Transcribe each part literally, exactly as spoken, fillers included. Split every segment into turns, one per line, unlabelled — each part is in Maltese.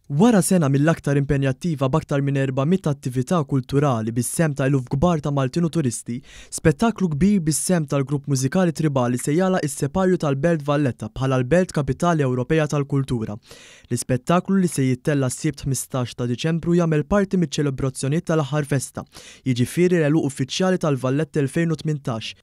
Wara sena mill-aktar impenjattiva b'aktar minn erba' mitt attività kulturali bis-sehem ta' eluf kbar ta' Maltin u turisti, spettaklu kbir bis-sehem tal-grupp mużikali Tribali se jagħlaq is-separju tal-Belt Valletta bħala l-Belt Kapitali Ewropea tal-Kultura. L-ispettaklu li se jittella' s-Sibt ħmistax ta' Diċembru jagħmel parti miċ-ċelebrazzjonijiet tal-aħħar festa, jiġifieri l-għeluq uffiċjali tal-Valletta elfejn u tmintax.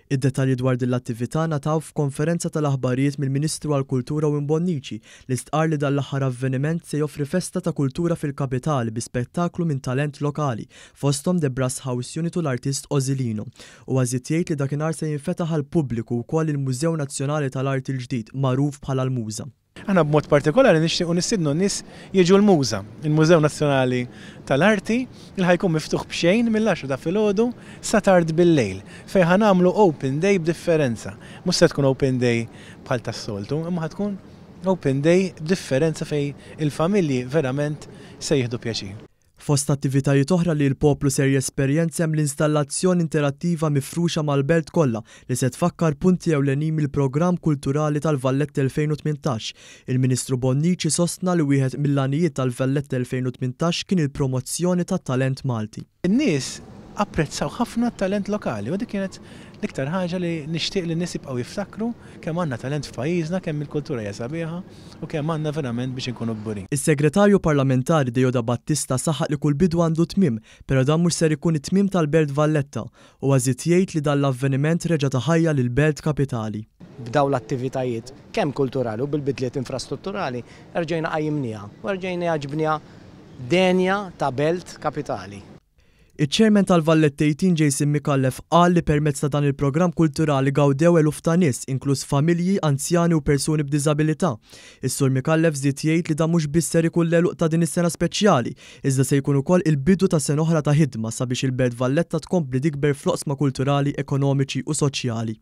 Id-dettalji dwar din l-attività ngħataw f'konferenza tal-aħbarijiet mill-Ministru għall-Kultura Owen Bonnici li stqarr li dan l-aħħar avveniment se joffri festa ta' kultura fil-kapitali bi spettaklu minn talent lokali fosthom The Brass House Unit u l-artist Ozilino. U żied jgħid li dakinhar se jinfetaħ għall-pubbliku wkoll il-Mużew Nazzjonali tal-Arti l-ġdid magħruf bħala l-Muża.
Aħna b'mod partikolari nixtiequ nistiednu n-nies jiġu l-Muża, il-Mużew Nazzjonali tal-Arti, li ħajkun miftuħ b'xejn mill-għaxra ta' filgħodu sa tard bil-lejl, fejn ħanamlu open day b'differenza. Mhux se tkun open day bħal tas-soltu, imma ħatkun open day b'differenza fejn il-familji verament se jieħdu pjaċir.
Fost attivitajiet oħra li l-poplu ser jesperjenza hemm l-installazzjoni interattiva mifruxa mal-belt kollha li se tfakkar punti ewlenin mill-programm kulturali tal-Valletta elfejn u tmintax. Il-Ministru Bonnici sostna li wieħed mill-għanijiet tal-Valletta elfejn u tmintax kien il-promozzjoni tat-talent Malti.
In-nies apprezzaw ħafna t-talent lokali u dik kienet l-iktar ħaġa li nixtieq li n-nies jibqgħu jiftakru kemm għandna talent f'pajjiżna, kemm il-kultura hija sabiħa u kemm għandna verament biex inkunu kburin.
Is-Segretarju Parlamentari Deoda Battista saħaq li kull bidu għandu tmiem, però dan mhux ser ikun it-tmiem tal-Belt Valletta u żied jgħid li dan l-avveniment reġa' ta ħajja lill-Belt Kapitali.
B'daw l-attivitajiet kemm kulturali u bil-bidliet infrastrutturali erġejna qajjimniha u erġejna ġibniha denja ta' Belt Kapitali.
Iċ-Chairman tal-Valletta eighteen Jason Micallef qal li permezz ta' dan il-programm kulturali gawdew eluf ta' nies, inkluż familji, anzjani u persuni b'diżabilità. Is-Sur Micallef żied jgħid li dan mhux biss ser ikun l-għeluq ta' din is-sena speċjali, iżda se jkun ukoll il-bidu ta' sena oħra ta' ħidma sabiex il-Belt Valletta tkompli tikber fl-oqsma kulturali, ekonomiċi u soċjali.